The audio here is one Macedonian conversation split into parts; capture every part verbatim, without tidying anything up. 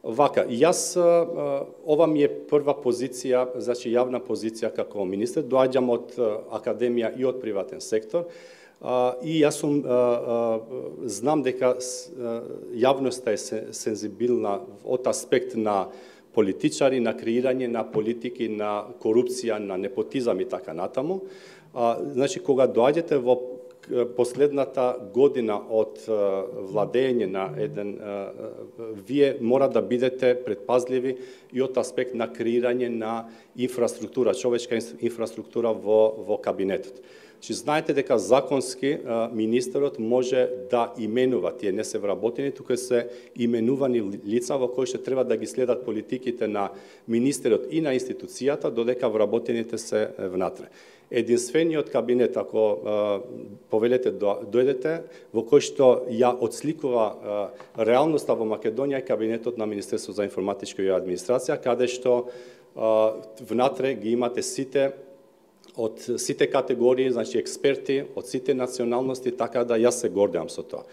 Вака, јас, ова ми е прва позиција, значи јавна позиција како министер, доаѓам од академија и од приватен сектор, и јас сум, знам дека јавноста е сензибилна од аспект на политичари, на креирање на политики, на корупција, на непотизам и така натаму. Значи, кога доаѓате во последната година од владење на еден, вие мора да бидете предпазливи и од аспект на креирање на инфраструктура, човечка инфраструктура во, во кабинетот. Значи, знаете дека законски министерот може да именува, тие не се вработени, тука се именувани лица во кои што треба да ги следат политиките на министерот и на институцијата, додека вработените се внатре. Единствениот кабинет, ако повелете дојдете, во кој што ја отсликува реалноста во Македонија, е кабинетот на Министерството за информатичка и администрација, каде што внатре ги имате сите од сите категории, значи експерти, од сите националности, така да јас се гордеам со тоа.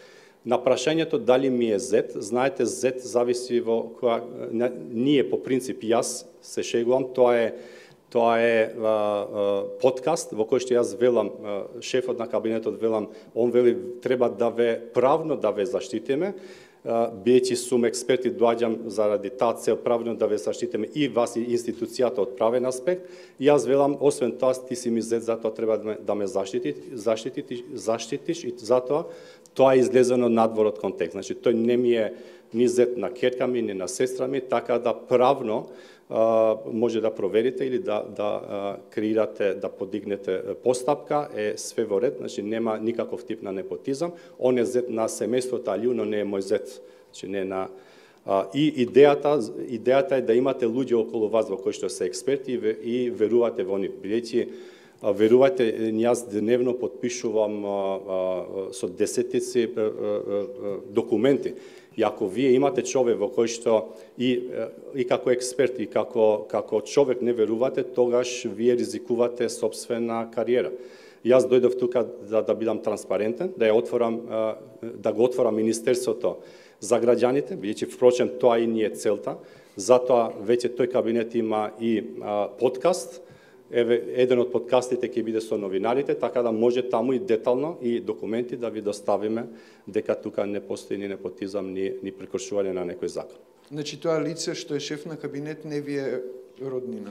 На прашањето дали ми е зет, знаете, зет зависи во која, ние по принцип, јас се шегувам, тоа е Тоа е а, а, подкаст во кој што јас велам, а, шефот на кабинетот велам, он вели треба да ве правно да ве заштитиме, биејќи сум експерт и доаѓам заради таа цел правно да ве заштитиме и вас и институцијата од правен аспект. И јас велам, освен тоа, ти си ми зет, затоа треба да ме, да ме заштити, заштитиш, заштитиш и затоа тоа е излезено надвор од контекст. Значи, тој не ми е ни зет на ќерка ми, ни на сестра ми, така да правно Uh, може да проверите или да, да uh, креирате, да подигнете постапка, е све во ред, значи нема никаков тип на непотизам. Он е зет на семејството Алиу, но не е мој зет, значи не на... Uh, и идејата, идејата е да имате луѓе околу вас во кои што се експерти и, и верувате во нив. Бидејќи, uh, верувате, јас дневно подпишувам uh, uh, со десетици uh, uh, документи. И ако вие имате човек во кој што и, и како експерт и како, како човек не верувате, тогаш вие ризикувате собствена кариера. Јас дојдов тука да, да бидам транспарентен, да ја отворам, да го отворам министерството за граѓаните, бидејќи впрочем тоа и ни е целта. Затоа веќе тој кабинет има и а, подкаст. Еве, еден од подкастите ќе биде со новинарите, така да може таму и детално и документи да ви доставиме дека тука не постои ни непотизам, ни, ни прекршување на некој закон. Значи, тоа лице што е шеф на кабинет не ви е роднина?